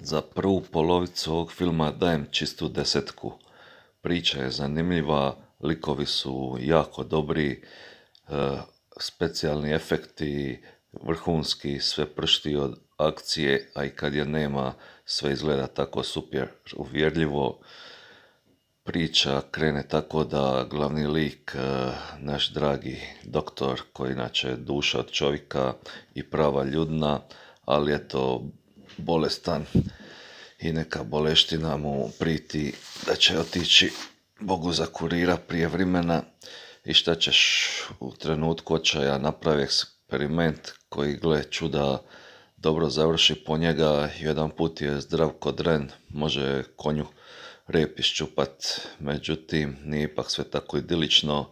Za prvu polovicu ovog filma dajem čistu 10. Priča je zanimljiva, likovi su jako dobri, specijalni efekti vrhunski, sve pršti od akcije, a i kad je nema, sve izgleda tako super uvjerljivo. Priča krene tako da glavni lik, naš dragi doktor, koji inače je duša od čovjeka i prava ljudna, ali eto bolestan i neka boleština mu priti da će otići Bogu za kurira prije vremena i šta ćeš, u trenutku očaja napravi eksperiment koji, gle čuda, dobro završi po njega. Jedan put je zdrav ko dren, može konju rep iščupat, međutim nije ipak sve tako idilično,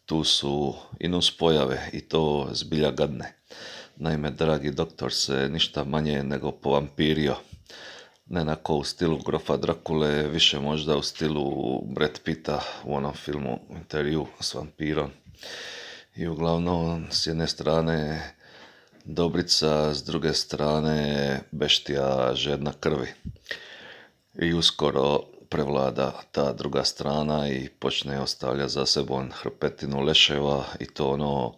tu su i nuspojave i to zbilja gadne. Naime, dragi doktor se ništa manje nego povampirio. Ne onako u stilu grofa Drakule, više možda u stilu Brad Pitta u onom filmu Intervju s vampirom. I uglavnom, s jedne strane dobrica, s druge strane beštija žedna krvi. I uskoro prevlada ta druga strana i počne ostavljati za sebom hrpetinu leševa i to ono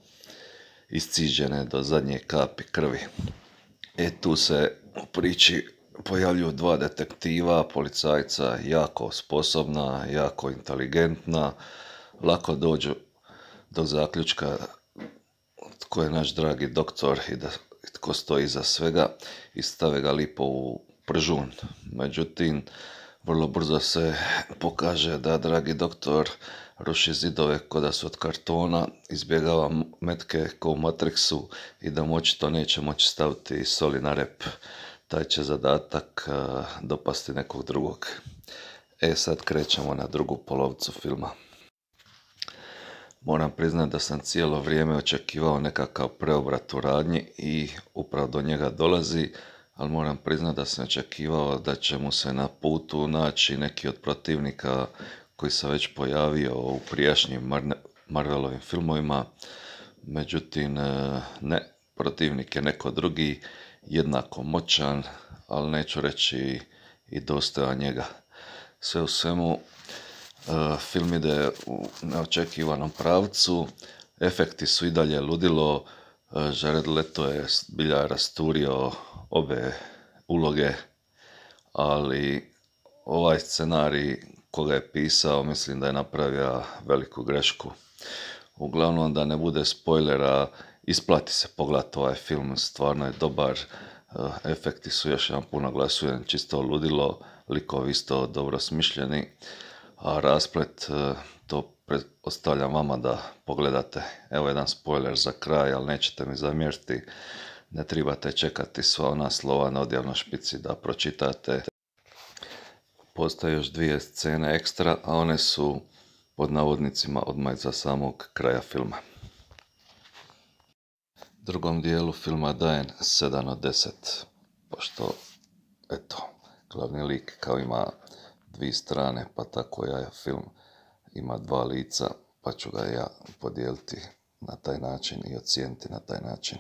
isciđene do zadnje kapi krvi. Tu se u priči pojavljuju dva detektiva, policajca jako sposobna, jako inteligentna, lako dođu do zaključka tko je naš dragi doktor i tko stoji iza svega i stave ga lipo u pržun. Međutim, vrlo brzo se pokaže da dragi doktor ruši zidove ko da su od kartona, izbjegava metke ko u Matrixu i da mu očito neće moći staviti soli na rep. Taj će zadatak dopasti nekog drugog. Sad krećemo na drugu polovicu filma. Moram priznati da sam cijelo vrijeme očekivao nekakav preobrat u radnji i upravo do njega dolazi, ali moram priznati da sam očekivao da će mu se na putu naći neki od protivnika koji se već pojavio u prijašnjim Marvelovim filmovima. Međutim, ne, protivnik je neko drugi, jednako moćan, ali neću reći i dostojan njega. Sve u svemu, film ide u neočekivanom pravcu, efekti su i dalje ludilo, Jared Leto je zbilja rasturio obe uloge, ali ovaj scenarij koga je pisao mislim da je napravio veliku grešku. Uglavnom, da ne bude spoilera, isplati se pogledati ovaj film, stvarno je dobar, efekti su, još jedan put naglasujem, čisto ludilo, likovi isto dobro smišljeni, a rasplet to ostavljam vama da pogledate. Evo jedan spoiler za kraj, ali nećete mi zamjeriti, ne trebate čekati sva ona slova na odjavnoj špici da pročitate. Postoje još dvije scene ekstra, a one su pod navodnicima odmah iza samog kraja filma. Drugom dijelu filma dajem 7 od 10, pošto, eto, glavni lik kao ima dvije strane, pa tako ja film ima dva lica, pa ću ga ja podijeliti na taj način i ocijeniti na taj način.